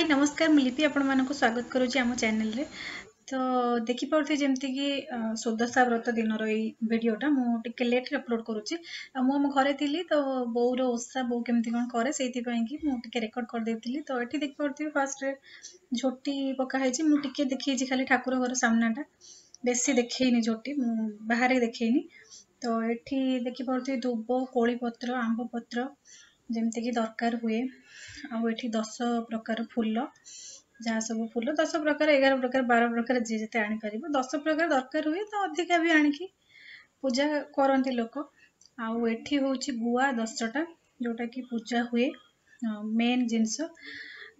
High ନମସ୍କାର, ମୁଁ ଲିପି ଆପଣମାନଙ୍କୁ ସ୍ୱାଗତ କରୁଛି ଆମ ଚ୍ୟାନେଲରେ। ତ ଦେଖିପାରୁଥିବେ ଯେମିତିକି ସୁଦଶା ବ୍ରତ ଦିନର ଏଇ ଭିଡ଼ିଓଟା ମୁଁ ଟିକେ ଲେଟ୍ରେ ଅପଲୋଡ଼ କରୁଛି। ଆଉ ମୁଁ ଆମ ଘରେ ଥିଲି, ତ ବୋଉର ଓଷା ବୋଉ କେମିତି କ'ଣ କରେ ସେଇଥିପାଇଁ କି ମୁଁ ଟିକେ ରେକର୍ଡ଼ କରିଦେଇଥିଲି। ତ ଏଠି ଦେଖିପାରୁଥିବେ ଫାର୍ଷ୍ଟରେ ଝୋଟି ପକା ହେଇଛି। ମୁଁ ଟିକେ ଦେଖେଇଛି ଖାଲି ଠାକୁର ଘର ସାମ୍ନାଟା, ବେଶୀ ଦେଖେଇନି ଝୋଟି, ମୁଁ ବାହାରେ ଦେଖେଇନି। ତ ଏଠି ଦେଖିପାରୁଥିବେ ଦୁବ, କୋଳି ପତ୍ର, ଆମ୍ବ ପତ୍ର ଯେମିତିକି ଦରକାର ହୁଏ। ଆଉ ଏଠି 10 ପ୍ରକାର ଫୁଲ, ଯାହା ସବୁ ଫୁଲ 10 ପ୍ରକାର, 11 ପ୍ରକାର, 12 ପ୍ରକାର, ଯିଏ ଯେତେ ଆଣିପାରିବ। 10 ପ୍ରକାର ଦରକାର ହୁଏ, ତ ଅଧିକା ବି ଆଣିକି ପୂଜା କରନ୍ତି ଲୋକ। ଆଉ ଏଠି ହେଉଛି ଗୁଆ 10ଟା, ଯେଉଁଟାକି ପୂଜା ହୁଏ ମେନ୍ ଜିନିଷ।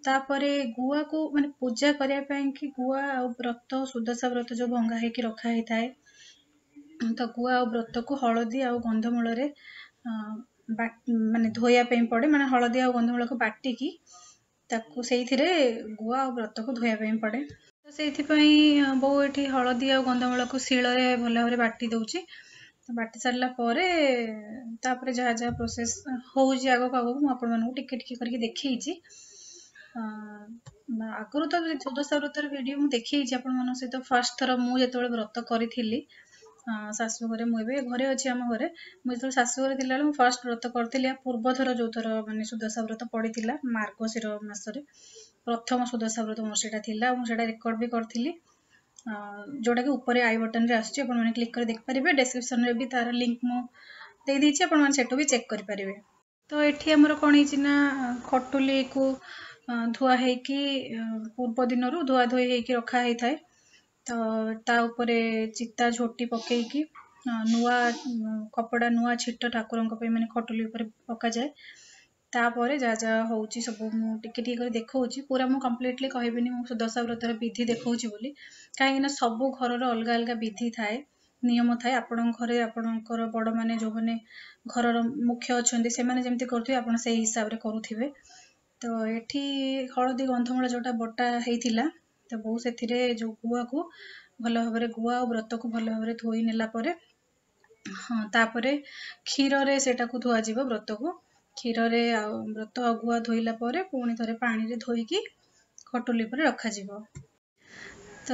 ତାପରେ ଗୁଆକୁ ମାନେ ପୂଜା କରିବା ପାଇଁକି ଗୁଆ ଆଉ ବ୍ରତ, ସୁଦଶା ବ୍ରତ ଯେଉଁ ଭଙ୍ଗା ହେଇକି ରଖା ହେଇଥାଏ, ତ ଗୁଆ ଆଉ ବ୍ରତକୁ ହଳଦୀ ଆଉ ଗନ୍ଧମୂଳରେ ମାନେ ଧୋଇବା ପାଇଁ ପଡ଼େ। ମାନେ ହଳଦୀ ଆଉ ଗନ୍ଧମୂଳକୁ ବାଟିକି ତାକୁ ସେଇଥିରେ ଗୁଆ ଆଉ ବ୍ରତକୁ ଧୋଇବା ପାଇଁ ପଡ଼େ। ତ ସେଇଥିପାଇଁ ବୋଉ ଏଠି ହଳଦୀ ଆଉ ଗନ୍ଧମୂଳକୁ ଶିଳରେ ଭଲ ଭାବରେ ବାଟି ଦେଉଛି। ବାଟି ସାରିଲା ପରେ ତାପରେ ଯାହା ଯାହା ପ୍ରୋସେସ୍ ହେଉଛି ଆଗକୁ ଆଗକୁ ମୁଁ ଆପଣମାନଙ୍କୁ ଟିକେ ଟିକେ କରିକି ଦେଖେଇଛି। ଆଗରୁ ତ ସୁଦଶା ବ୍ରତର ଭିଡ଼ିଓ ମୁଁ ଦେଖେଇଛି ଆପଣମାନଙ୍କ ସହିତ। ଫାର୍ଷ୍ଟ ଥର ମୁଁ ଯେତେବେଳେ ବ୍ରତ କରିଥିଲି ଶାଶୁ ଘରେ, ମୁଁ ଏବେ ଘରେ ଅଛି ଆମ ଘରେ, ମୁଁ ଯେତେବେଳେ ଶାଶୁ ଘରେ ଥିଲାବେଳେ ମୁଁ ଫାର୍ଷ୍ଟ ବ୍ରତ କରିଥିଲି। ଆ ପୂର୍ବ ଥର ଯେଉଁଥର ମାନେ ସୁଦଶା ବ୍ରତ ପଡ଼ିଥିଲା ମାର୍ଗଶିର ମାସରେ, ପ୍ରଥମ ସୁଦଶା ବ୍ରତ ମୋର ସେଇଟା ଥିଲା। ଆଉ ମୁଁ ସେଇଟା ରେକର୍ଡ଼ ବି କରିଥିଲି, ଯେଉଁଟାକି ଉପରେ I ବଟନରେ ଆସୁଛି, ଆପଣମାନେ କ୍ଲିକ୍ କରି ଦେଖିପାରିବେ। ଡେସ୍କ୍ରିପସନରେ ବି ତାର ଲିଙ୍କ୍ ମୁଁ ଦେଇଦେଇଛି, ଆପଣମାନେ ସେଠୁ ବି ଚେକ୍ କରିପାରିବେ। ତ ଏଠି ଆମର କ'ଣ ହେଇଛି ନା ଖଟୁଲିକୁ ଧୁଆ ହେଇକି ପୂର୍ବ ଦିନରୁ ଧୁଆ ଧୋଇ ହେଇକି ରଖା ହେଇଥାଏ। ତ ତା ଉପରେ ଚିତା ଝୋଟି ପକେଇକି ନୂଆ କପଡ଼ା, ନୂଆ ଛିଟ ଠାକୁରଙ୍କ ପାଇଁ ମାନେ ଖଟୁଲି ଉପରେ ପକାଯାଏ। ତାପରେ ଯାହା ଯାହା ହେଉଛି ସବୁ ମୁଁ ଟିକେ ଟିକେ କରି ଦେଖାଉଛି। ପୁରା ମୁଁ କମ୍ପ୍ଲିଟଲି କହିବିନି ମୁଁ ସୁଦଶା ବ୍ରତର ବିଧି ଦେଖାଉଛି ବୋଲି, କାହିଁକିନା ସବୁ ଘରର ଅଲଗା ଅଲଗା ବିଧି ଥାଏ, ନିୟମ ଥାଏ। ଆପଣଙ୍କ ଘରେ ଆପଣଙ୍କର ବଡ଼ମାନେ ଯେଉଁମାନେ ଘରର ମୁଖ୍ୟ ଅଛନ୍ତି, ସେମାନେ ଯେମିତି କରୁଥିବେ ଆପଣ ସେଇ ହିସାବରେ କରୁଥିବେ। ତ ଏଠି ହଳଦୀ ଗନ୍ଧମୂଳ ଯେଉଁଟା ବଟା ହେଇଥିଲା, ତ ବୋଉ ସେଥିରେ ଯେଉଁ ଗୁଆକୁ ଭଲ ଭାବରେ, ଗୁଆ ଆଉ ବ୍ରତକୁ ଭଲ ଭାବରେ ଧୋଇ ନେଲା ପରେ, ହଁ, ତାପରେ କ୍ଷୀରରେ ସେଇଟାକୁ ଧୁଆଯିବ। ବ୍ରତକୁ କ୍ଷୀରରେ ଆଉ ବ୍ରତ ଆଉ ଗୁଆ ଧୋଇଲା ପରେ ପୁଣି ଥରେ ପାଣିରେ ଧୋଇକି ଖଟୁଲି ଉପରେ ରଖାଯିବ। ତ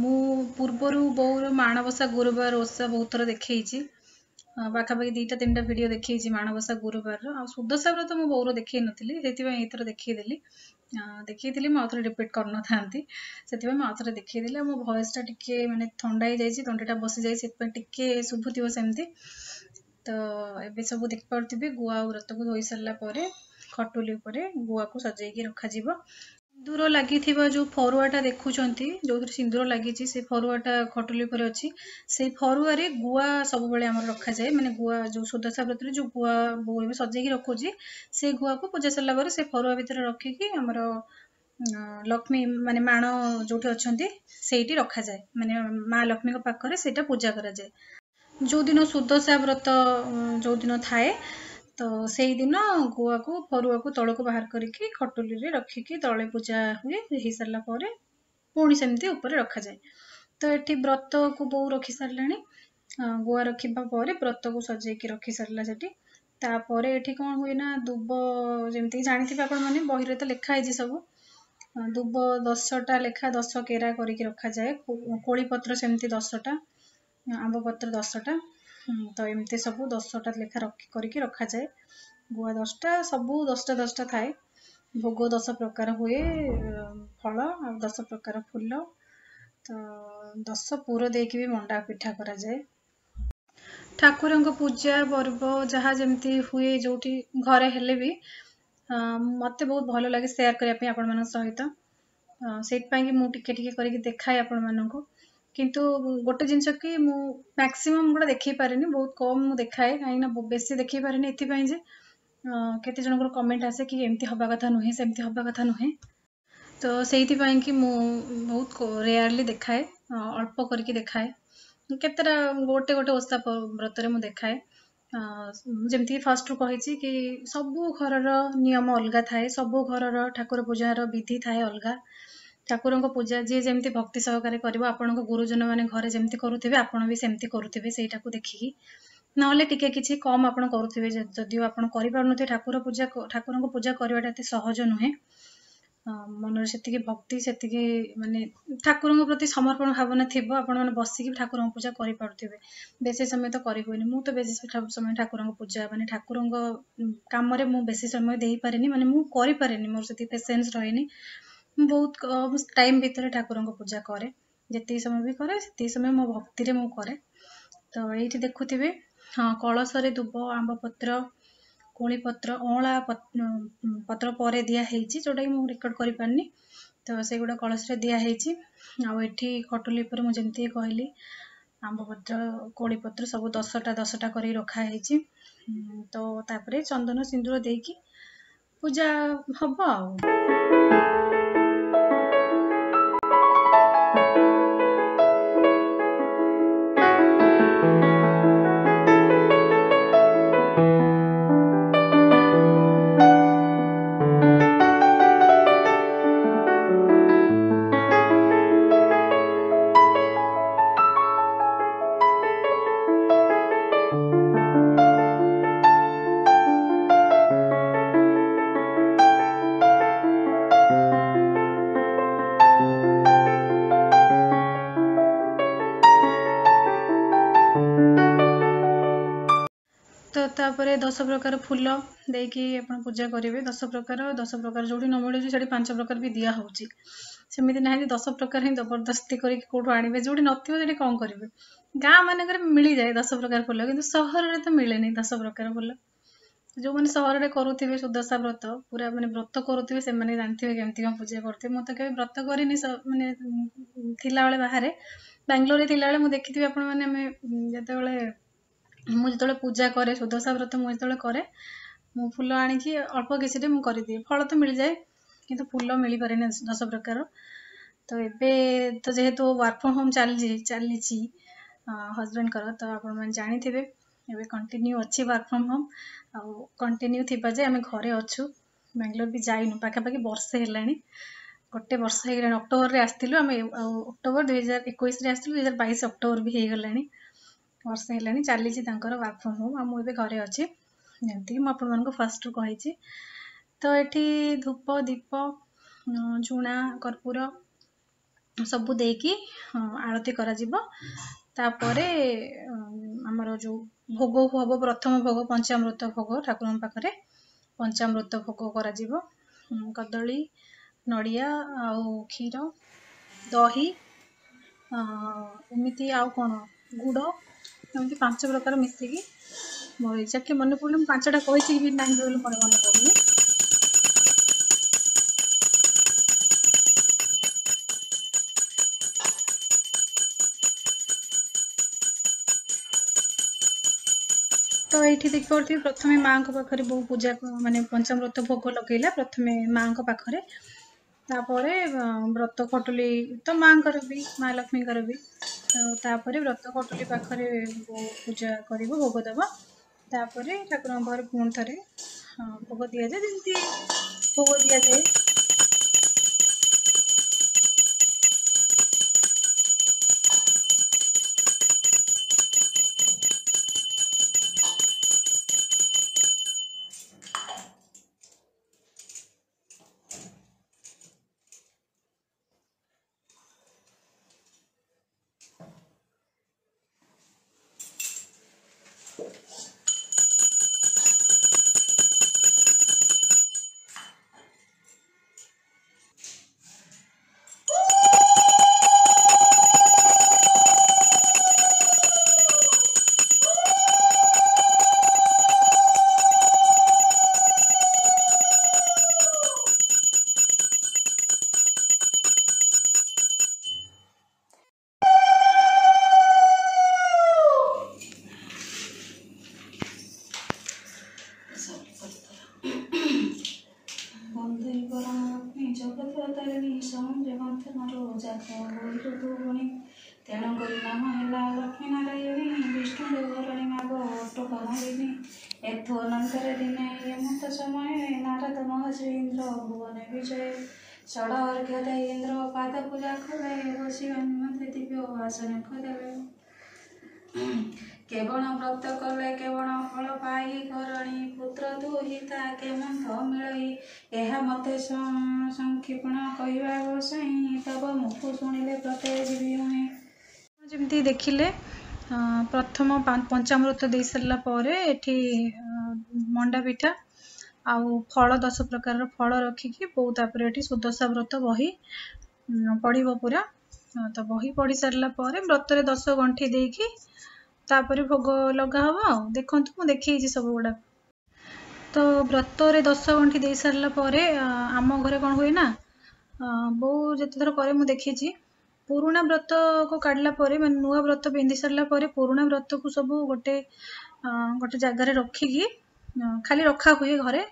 ମୁଁ ପୂର୍ବରୁ ବୋଉର ମାଣବସା ଗୁରୁବାର ଓଷା ବହୁତ ଥର ଦେଖେଇଛି, ପାଖାପାଖି 2ଟା 3ଟା ଭିଡ଼ିଓ ଦେଖେଇଛି ମାଣବସା ଗୁରୁବାରର। ଆଉ ସୁଦଶା ବ୍ରତ ମୁଁ ବୋଉର ଦେଖେଇ ନଥିଲି, ସେଥିପାଇଁ ଏଇଥର ଦେଖେଇଦେଲି। ଦେଖେଇଥିଲି ମୁଁ ଆଉଥରେ ରିପିଟ୍ କରିନଥାନ୍ତି, ସେଥିପାଇଁ ମୁଁ ଆଉଥରେ ଦେଖେଇଦେଲି। ଆଉ ମୋ ଭଏସ୍ଟା ଟିକେ ମାନେ ଥଣ୍ଡା ହେଇଯାଇଛି, ତଣ୍ଟିଟା ବସିଯାଇଛି, ସେଥିପାଇଁ ଟିକେ ଶୁଭୁଥିବ ସେମିତି। ତ ଏବେ ସବୁ ଦେଖିପାରୁଥିବେ ଗୁଆ ଆଉ ବ୍ରତକୁ ଧୋଇ ସାରିଲା ପରେ ଖଟୁଲି ଉପରେ ଗୁଆକୁ ସଜେଇକି ରଖାଯିବ। ସିନ୍ଦୁର ଲାଗିଥିବା ଯେଉଁ ଫରୁଆଟା ଦେଖୁଛନ୍ତି, ଯେଉଁଥିରେ ସିନ୍ଦୁର ଲାଗିଛି, ସେ ଫରୁଆଟା ଖଟୁଲି ଉପରେ ଅଛି। ସେଇ ଫରୁଆରେ ଗୁଆ ସବୁବେଳେ ଆମର ରଖାଯାଏ। ମାନେ ଗୁଆ ଯେଉଁ ସୁଦଶା ବ୍ରତରେ ଯେଉଁ ଗୁଆ ବୋଉ ଏବେ ସଜେଇକି ରଖୁଛି, ସେଇ ଗୁଆକୁ ପୂଜା ସରିଲା ପରେ ସେ ଫରୁଆ ଭିତରେ ରଖିକି ଆମର ଲକ୍ଷ୍ମୀ ମାନେ ମାଣ ଯେଉଁଠି ଅଛନ୍ତି ସେଇଠି ରଖାଯାଏ। ମାନେ ମା ଲକ୍ଷ୍ମୀଙ୍କ ପାଖରେ ସେଇଟା ପୂଜା କରାଯାଏ। ଯେଉଁଦିନ ସୁଦଶା ବ୍ରତ ଯେଉଁଦିନ ଥାଏ, ତ ସେଇଦିନ ଗୁଆକୁ ଫରୁଆକୁ ତଳକୁ ବାହାର କରିକି ଖଟୁଲିରେ ରଖିକି ତଳେ ପୂଜା ହୁଏ। ହେଇସାରିଲା ପରେ ପୁଣି ସେମିତି ଉପରେ ରଖାଯାଏ। ତ ଏଠି ବ୍ରତକୁ ବୋଉ ରଖି ସାରିଲାଣି। ଗୁଆ ରଖିବା ପରେ ବ୍ରତକୁ ସଜେଇକି ରଖି ସାରିଲା ସେଠି। ତାପରେ ଏଠି କ'ଣ ହୁଏ ନା ଦୁବ, ଯେମିତିକି ଜାଣିଥିବେ ଆପଣମାନେ, ବହିରେ ତ ଲେଖା ହେଇଛି ସବୁ, ଦୁବ 10ଟା ଲେଖା 10 କେରା କରିକି ରଖାଯାଏ। କୋଳି ପତ୍ର ସେମିତି 10ଟା, ଆମ୍ବ ପତ୍ର 10ଟା, ତ ଏମିତି ସବୁ 10ଟା ଲେଖା ରଖି କରିକି ରଖାଯାଏ। ଗୁଆ 10ଟା, ସବୁ 10ଟା 10ଟା ଥାଏ। ଭୋଗ 10 ପ୍ରକାର ହୁଏ, ଫଳ ଆଉ 10 ପ୍ରକାର ଫୁଲ, ତ 10 ପୁର ଦେଇକି ବି ମଣ୍ଡା ପିଠା କରାଯାଏ। ଠାକୁରଙ୍କ ପୂଜା ପର୍ବ ଯାହା ଯେମିତି ହୁଏ ଯେଉଁଠି ଘରେ ହେଲେ ବି ମୋତେ ବହୁତ ଭଲ ଲାଗେ ସେୟାର କରିବା ପାଇଁ ଆପଣମାନଙ୍କ ସହିତ। ସେଇଥିପାଇଁ କି ମୁଁ ଟିକେ ଟିକେ କରିକି ଦେଖାଏ ଆପଣମାନଙ୍କୁ। କିନ୍ତୁ ଗୋଟେ ଜିନିଷ କି ମୁଁ ମ୍ୟାକ୍ସିମମ୍ ଗୁଡ଼ା ଦେଖେଇ ପାରେନି, ବହୁତ କମ୍ ମୁଁ ଦେଖାଏ। କାହିଁକିନା ବେଶୀ ଦେଖେଇ ପାରେନି ଏଥିପାଇଁ ଯେ କେତେ ଜଣଙ୍କର କମେଣ୍ଟ ଆସେ କି ଏମିତି ହେବା କଥା ନୁହେଁ, ସେମିତି ହେବା କଥା ନୁହେଁ। ତ ସେଇଥିପାଇଁ କି ମୁଁ ବହୁତ ରେୟାରଲି ଦେଖାଏ, ଅଳ୍ପ କରିକି ଦେଖାଏ। କେତେଟା ଗୋଟେ ଗୋଟେ ଓଷା ବ୍ରତରେ ମୁଁ ଦେଖାଏ। ଯେମିତିକି ଫାର୍ଷ୍ଟରୁ କହିଛି କି ସବୁ ଘରର ନିୟମ ଅଲଗା ଥାଏ, ସବୁ ଘରର ଠାକୁର ପୂଜାର ବିଧି ଥାଏ ଅଲଗା। ଠାକୁରଙ୍କ ପୂଜା ଯିଏ ଯେମିତି ଭକ୍ତି ସହକାରେ କରିବ, ଆପଣଙ୍କ ଗୁରୁଜନ ମାନେ ଘରେ ଯେମିତି କରୁଥିବେ ଆପଣ ବି ସେମିତି କରୁଥିବେ ସେଇଟାକୁ ଦେଖିକି, ନହେଲେ ଟିକେ କିଛି କମ୍ ଆପଣ କରୁଥିବେ ଯଦିଓ ଆପଣ କରିପାରୁନଥିବେ। ଠାକୁର ପୂଜା, ଠାକୁରଙ୍କ ପୂଜା କରିବାଟା ଏତେ ସହଜ ନୁହେଁ। ମନରେ ସେତିକି ଭକ୍ତି, ସେତିକି ମାନେ ଠାକୁରଙ୍କ ପ୍ରତି ସମର୍ପଣ ଭାବନା ଥିବ, ଆପଣମାନେ ବସିକି ଠାକୁରଙ୍କ ପୂଜା କରିପାରୁଥିବେ। ବେଶୀ ସମୟ ତ କରିହୁଏନି। ମୁଁ ତ ବେଶୀ ସମୟ ଠାକୁରଙ୍କ ପୂଜା ମାନେ ଠାକୁରଙ୍କ କାମରେ ମୁଁ ବେଶୀ ସମୟ ଦେଇପାରେନି, ମାନେ ମୁଁ କରିପାରେନି, ମୋର ସେତିକି ପେସେନ୍ସ ରହେନି। ମୁଁ ବହୁତ କମ୍ ଟାଇମ୍ ଭିତରେ ଠାକୁରଙ୍କ ପୂଜା କରେ, ଯେତିକି ସମୟ ବି କରେ ସେତିକି ସମୟ ମୋ ଭକ୍ତିରେ ମୁଁ କରେ। ତ ଏଇଠି ଦେଖୁଥିବେ, ହଁ, କଳସରେ ଦୁବ, ଆମ୍ବ ପତ୍ର, କୋଳି ପତ୍ର, ଅଁଳା ପତ୍ର ପରେ ଦିଆ ହେଇଛି, ଯେଉଁଟାକି ମୁଁ ରେକର୍ଡ଼ କରିପାରିନି। ତ ସେଗୁଡ଼ା କଳସରେ ଦିଆହେଇଛି। ଆଉ ଏଠି ଖଟୁଲି ଉପରେ ମୁଁ ଯେମିତି କହିଲି ଆମ୍ବ ପତ୍ର, କୋଳି ପତ୍ର ସବୁ 10ଟା 10ଟା କରିକି ରଖା ହେଇଛି। ତ ତାପରେ ଚନ୍ଦନ ସିନ୍ଦୁର ଦେଇକି ପୂଜା ହବ। ଆଉ ତ ତାପରେ 10 ପ୍ରକାର ଫୁଲ ଦେଇକି ଆପଣ ପୂଜା କରିବେ। 10 ପ୍ରକାର, 10 ପ୍ରକାର ଯେଉଁଠି ନ ମିଳୁଛି ସେଠି 5 ପ୍ରକାର ବି ଦିଆ ହେଉଛି। ସେମିତି ନାହିଁ ଯେ 10 ପ୍ରକାର ହିଁ ଜବରଦସ୍ତି କରିକି କେଉଁଠୁ ଆଣିବେ, ଯେଉଁଠି ନଥିବ ସେଠି କ'ଣ କରିବେ। ଗାଁ ମାନଙ୍କରେ ମିଳିଯାଏ 10 ପ୍ରକାର ଫୁଲ, କିନ୍ତୁ ସହରରେ ତ ମିଳେନି 10 ପ୍ରକାର ଫୁଲ। ଯେଉଁମାନେ ସହରରେ କରୁଥିବେ ସୁଦଶା ବ୍ରତ, ପୁରା ମାନେ ବ୍ରତ କରୁଥିବେ, ସେମାନେ ଜାଣିଥିବେ କେମିତି କ'ଣ ପୂଜା କରୁଥିବେ। ମୁଁ ତ କେବେ ବ୍ରତ କରିନି। ମାନେ ଥିଲାବେଳେ ବାହାରେ ବାଙ୍ଗାଲୋରରେ ଥିଲାବେଳେ ମୁଁ ଦେଖିଥିବି ଆପଣମାନେ, ଆମେ ଯେତେବେଳେ ମୁଁ ଯେତେବେଳେ ପୂଜା କରେ ସୁଦଶା ବ୍ରତ, ମୁଁ ଯେତେବେଳେ କରେ ମୁଁ ଫୁଲ ଆଣିକି ଅଳ୍ପ କିଛିରେ ମୁଁ କରିଦିଏ। ଫଳ ତ ମିଳିଯାଏ କିନ୍ତୁ ଫୁଲ ମିଳିପାରେନି 10 ପ୍ରକାର। ତ ଏବେ ତ ଯେହେତୁ ୱାର୍କ ଫ୍ରମ୍ ହୋମ୍ ଚାଲିଛି ହଜବେଣ୍ଡଙ୍କର, ତ ଆପଣମାନେ ଜାଣିଥିବେ ଏବେ କଣ୍ଟିନ୍ୟୁ ଅଛି ୱାର୍କ ଫ୍ରମ୍ ହୋମ୍। ଆଉ କଣ୍ଟିନ୍ୟୁ ଥିବା ଯେ ଆମେ ଘରେ ଅଛୁ, ବାଙ୍ଗାଲୋର ବି ଯାଇନୁ, ପାଖାପାଖି ବର୍ଷେ ହେଲାଣି, ଗୋଟେ ବର୍ଷ ହେଇଗଲାଣି। ଅକ୍ଟୋବରରେ ଆସିଥିଲୁ ଆମେ, ଆଉ ଅକ୍ଟୋବର 2021ରେ ଆସିଥିଲୁ, 2022 ଅକ୍ଟୋବର ବି ହେଇଗଲାଣି, ବର୍ଷେ ହେଲାଣି ଚାଲିଛି ତାଙ୍କର ୱାର୍କ ଫ୍ରମ୍ ହୋମ୍। ଆଉ ମୁଁ ଏବେ ଘରେ ଅଛି, ଯେମିତିକି ମୁଁ ଆପଣମାନଙ୍କୁ ଫାଷ୍ଟରୁ କହିଛି। ତ ଏଠି ଧୂପ, ଦୀପ, ଝୁଣା, କର୍ପୂର ସବୁ ଦେଇକି ଆଳତି କରାଯିବ। ତାପରେ ଆମର ଯେଉଁ ଭୋଗ ହବ, ପ୍ରଥମ ଭୋଗ ପଞ୍ଚାମୃତ ଭୋଗ, ଠାକୁରଙ୍କ ପାଖରେ ପଞ୍ଚାମୃତ ଭୋଗ କରାଯିବ। କଦଳୀ, ନଡ଼ିଆ ଆଉ କ୍ଷୀର, ଦହି, ଏମିତି ଆଉ କ'ଣ ଗୁଡ଼, ଏମିତି 5 ପ୍ରକାର ମିଶିକି। ମୋର ଏକ୍ଜାକ୍ଟଲି ମନେ ପଡ଼ୁନି ମୁଁ 5ଟା କହିଛି କି ନାହିଁ ବୋଲି ମୋର ମନେ ପଡ଼ୁନି। ତ ଏଇଠି ଦେଖିପାରୁଥିବେ ପ୍ରଥମେ ମାଆଙ୍କ ପାଖରେ ବୋଉ ପୂଜା ମାନେ ପଞ୍ଚାମୃତ ଭୋଗ ଲଗେଇଲା ପ୍ରଥମେ ମାଆଙ୍କ ପାଖରେ। ତାପରେ ବ୍ରତ ଖଟୁଲି ତ ମାଆଙ୍କର ବି, ମା ଲକ୍ଷ୍ମୀଙ୍କର ବି। ତ ତାପରେ ବ୍ରତ ଖଟୁଲି ପାଖରେ ବୋଉ ପୂଜା କରିବ, ଭୋଗ ଦେବ। ତାପରେ ଠାକୁରଙ୍କ ପାଖରେ ପୁଣି ଥରେ ଭୋଗ ଦିଆଯାଏ, ଯେମିତି ଭୋଗ ଦିଆଯାଏ। ତେଣୁ କରି ନାମ ହେଲା ଲକ୍ଷ୍ମୀ ନାରାୟଣୀ, ବିଷ୍ଣୁ ଘରଣୀ ମାଗ ଅଟୋ ଏଥୁ ଅନନ୍ତର ଦିନେ ଏମନ୍ତ ସମୟ ନାରଦ ମହର୍ଷି ଇନ୍ଦ୍ର ଭୁବନ ବିଜୟ ଷଡ଼ ଅର୍ଘ୍ୟ ଦେଇ ଇନ୍ଦ୍ର ପାଦ ପୂଜା କଲେ, ବସିବା ନିମନ୍ତେ ଦିବ୍ୟ ଆସନ ଦେଲେ। କେବଳ ବ୍ରତ କଲେ କେବଳ ଫଳ ପାଇ କରଣୀ ପୁତ୍ର ଦୁହିତା କେମନ୍ତ ମିଳଇ। ଏହା ମତେ ସଂକ୍ଷିପଣ କହିବା ଗୋସାଇଁ, ତବ ମୁଖୁ ଶୁଣିଲେ ବ୍ରତେ ଯିବି ମୁହିଁ। ଯେମିତି ଦେଖିଲେ, ପ୍ରଥମ ପଞ୍ଚାମୃତ ଦେଇ ସାରିଲା ପରେ ଏଠି ମଣ୍ଡା ପିଠା ଆଉ ଫଳ, 10 ପ୍ରକାରର ଫଳ ରଖିକି ବୋଉ ତାପରେ ଏଠି ସୁଦଶା ବ୍ରତ ବହି ପଢ଼ିବ ପୁରା। ତ ବହି ପଢ଼ି ସାରିଲା ପରେ ବ୍ରତରେ 10 ଗଣ୍ଠି ଦେଇକି ତାପରେ ଭୋଗ ଲଗା ହବ। ଆଉ ଦେଖନ୍ତୁ, ମୁଁ ଦେଖେଇଛି ସବୁ ଗୁଡ଼ାକ। ତ ବ୍ରତରେ 10 ଗଣ୍ଠି ଦେଇ ସାରିଲା ପରେ ଆମ ଘରେ କ'ଣ ହୁଏ ନା, ବୋଉ ଯେତେଥର କରେ ମୁଁ ଦେଖିଛି, ପୁରୁଣା ବ୍ରତକୁ କାଢ଼ିଲା ପରେ, ମାନେ ନୂଆ ବ୍ରତ ପିନ୍ଧି ସାରିଲା ପରେ ପୁରୁଣା ବ୍ରତକୁ ସବୁ ଗୋଟେ ଗୋଟେ ଜାଗାରେ ରଖିକି ଖାଲି ରଖା ହୁଏ ଘରେ।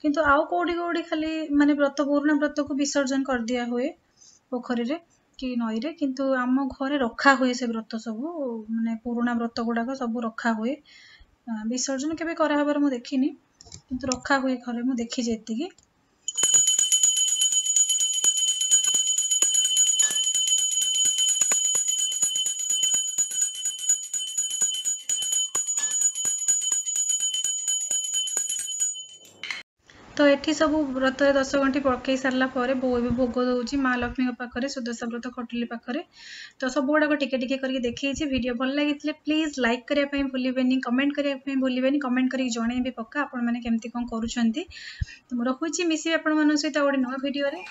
କିନ୍ତୁ ଆଉ କୋଉଠି କୋଉଠି ଖାଲି ମାନେ ବ୍ରତ, ପୁରୁଣା ବ୍ରତକୁ ବିସର୍ଜନ କରିଦିଆ ହୁଏ ପୋଖରୀରେ କି ନଈରେ। କିନ୍ତୁ ଆମ ଘରେ ରଖା ହୁଏ ସେ ବ୍ରତ ସବୁ, ମାନେ ପୁରୁଣା ବ୍ରତ ଗୁଡ଼ାକ ସବୁ ରଖା ହୁଏ। ବିସର୍ଜନ କେବେ କରାହବାର ମୁଁ ଦେଖିନି, କିନ୍ତୁ ରଖା ହୁଏ ଘରେ, ମୁଁ ଦେଖିଛି ଏତିକି। ତ ଏଠି ସବୁ ବ୍ରତରେ 10 ଗଣ୍ଠି ପକେଇ ସାରିଲା ପରେ ବୋଉ ଏବେ ଭୋଗ ଦଉଛି ମା ଲକ୍ଷ୍ମୀଙ୍କ ପାଖରେ, ସୁଦଶା ବ୍ରତ ଖଟୁଲି ପାଖରେ। ତ ସବୁ ଗୁଡ଼ାକ ଟିକେ ଟିକେ କରିକି ଦେଖେଇଛି। ଭିଡ଼ିଓ ଭଲ ଲାଗିଥିଲେ ପ୍ଲିଜ୍ ଲାଇକ୍ କରିବା ପାଇଁ ଭୁଲିବେନି, କମେଣ୍ଟ କରିବା ପାଇଁ ଭୁଲିବେନି। କମେଣ୍ଟ କରିକି ଜଣେଇବେ ପକ୍କା ଆପଣମାନେ କେମିତି କ'ଣ କରୁଛନ୍ତି। ତ ମୁଁ ରଖୁଛି, ମିଶିବି ଆପଣମାନଙ୍କ ସହିତ ଆଉ ଗୋଟେ ନୂଆ ଭିଡ଼ିଓରେ।